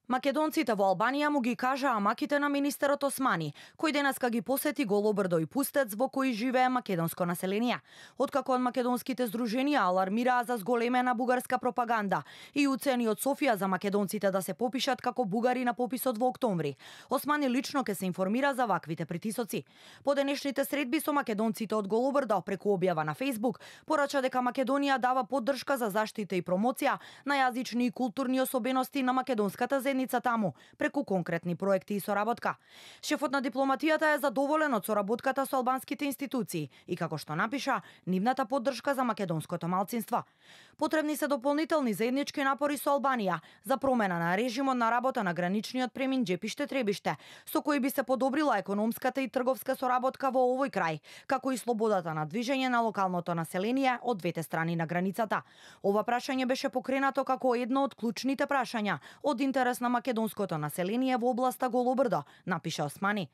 Македонците во Албанија му ги кажаа маките на министерот Османи, кој денеска ги посети Голобрдо и Пустец во кои живее македонско население. Откако од македонските здруженија алармираа за зголемена бугарска пропаганда и уцени од Софија за македонците да се попишат како бугари на пописот во октомври, Османи лично ќе се информира за ваквите притисоци. По денешните средби со македонците од Голобрдо преку објава на Facebook порача дека Македонија дава поддршка за заштита и промоција на јазични и културни особености на македонската заедница таму, преку конкретни проекти и соработка. Шефот на дипломатијата е задоволен од соработката со албанските институции и, како што напиша, нивната поддршка за македонското малцинство. Потребни се дополнителни заеднички напори со Албанија за промена на режимот на работа на граничниот премин Џепиште-Требиште, со кој би се подобрила економската и трговска соработка во овој крај, како и слободата на движење на локалното население од двете страни на границата. Ова прашање беше покренато како едно од клучните прашања од интерес на македонското население во областа Голобрдо, напиша Османи.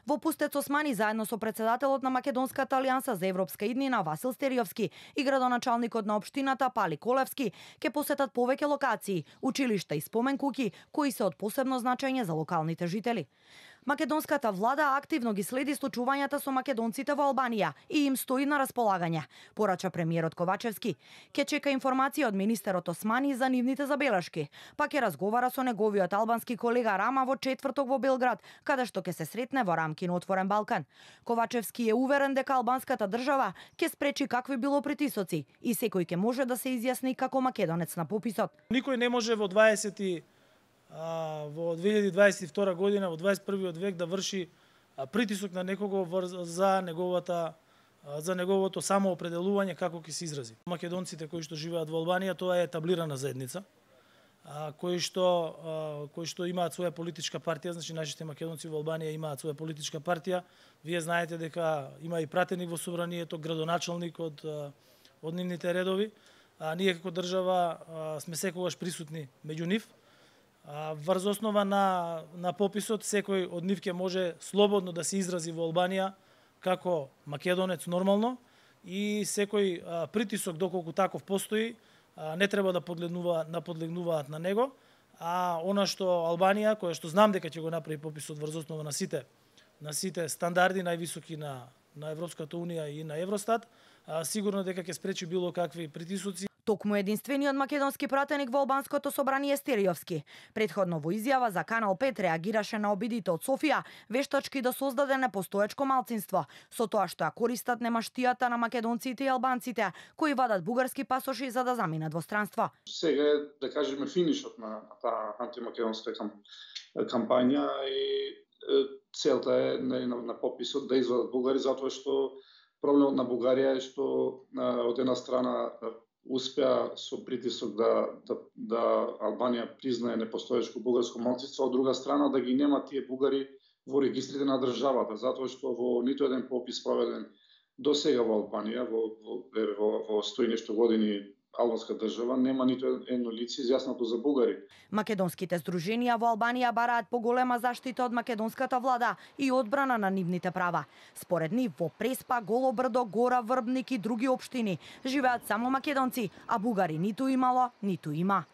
Во Пустец Османи заедно со председателот на Македонската алијанса за европска иднина Васил Стериовски и градоначалникот на општината Пали Колевски ќе посетат повеќе локации, училишта и спомен куќи кои се од посебно значење за локалните жители. Македонската влада активно ги следи случувањата со македонците во Албанија и им стои на располагање, порача премиерот Ковачевски. Ке чека информација од министерот Османи за нивните забелешки, па ќе разговара со неговиот албански колега Рама во четврток во Белград, каде што ќе се сретне во рамки на Отворен Балкан. Ковачевски е уверен дека албанската држава ќе спречи какви било притисоци и секој ќе може да се изјасни како македонец на пописот. Никој не може во 2022 година, во 21 век да врши притисок на некого за неговото самоопределување како ќе се изрази. Македонците кои што живеат во Албанија, тоа е етаблирана заедница, кои што имаат своја политичка партија, значи нашите македонци во Албанија имаат своја политичка партија. Вие знаете дека има и пратеник во собранието, градоначалник од нивните редови. Ние како држава сме секогаш присутни меѓу нив. Врз основа на пописот, секој од нив ќе може слободно да се изрази во Албанија како македонец нормално и секој притисок, доколку таков постои, не треба да подлегнуваат на него. А она што Албанија, која што знам дека ќе го направи пописот врз основа на сите стандарди највисоки на Европската унија и на Евростат, сигурно дека ќе спречи било какви притисоци. Токму единствениот македонски пратеник во албанското собрание Стериовски претходно во изјава за Канал 5 реагираше на обидите од Софија вештачки да создаде непостоечко малцинство со тоа што ја користат немаштијата на македонците и албанците кои вадат бугарски пасоши за да заминат во странство. Сега е, да кажеме, финишот на таа антимакедонска кампања и целта е на пописот да извадат бугари, затоа што проблемот на Бугарија е што од една страна успеа со притисок да Албанија признае непостоечко бугарско малцинство, од друга страна да ги нема тие бугари во регистрите на државата, затоа што во ниту еден попис проведен до сега во Албанија, во 100 и нешто години албанска држава, нема ниту едно лице изјаснато за бугари. Македонските здруженија во Албанија бараат поголема заштита од македонската влада и одбрана на нивните права. Според нив во Преспа, Голобрдо, Гора, Врбник и други општини живеат само македонци, а бугари ниту имало, ниту има.